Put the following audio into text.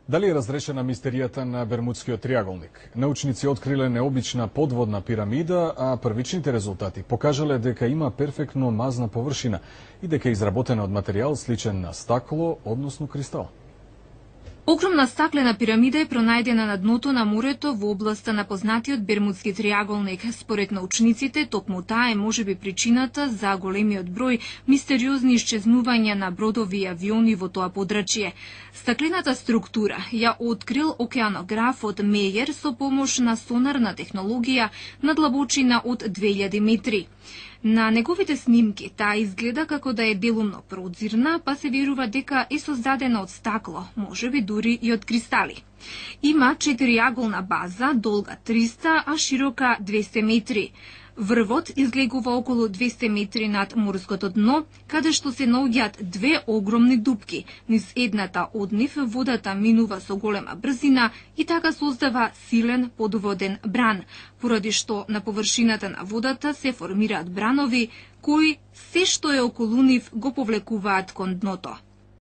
Дали е разрешена мистеријата на Бермудскиот триаголник? Научници откриле необична подводна пирамида, а првичните резултати покажале дека има перфектно мазна површина и дека е изработена од материјал сличен на стакло, односно кристал. Огромна стаклена пирамида е пронајдена на дното на морето во областа на познатиот Бермудски триаголник. Според научниците, токму таа е можеби причината за големиот број мистериозни исчезнувања на бродови и авиони во тоа подрачје. Стаклената структура ја открил океанографот Мејер со помош на сонарна технологија на длабочина од 2000 метри. На неговите снимки таа изгледа како да е делумно прозирна, па се верува дека е создадена од стакло, можеби дури и од кристали. Има 4-аголна база, долга 300, а широка 200 метри. Врвот излегува околу 200 метри над морското дно, каде што се наоѓаат две огромни дупки. Низ едната од нив водата минува со голема брзина и така создава силен подводен бран, поради што на површината на водата се формираат бранови, кои се што е околу нив го повлекуваат кон дното.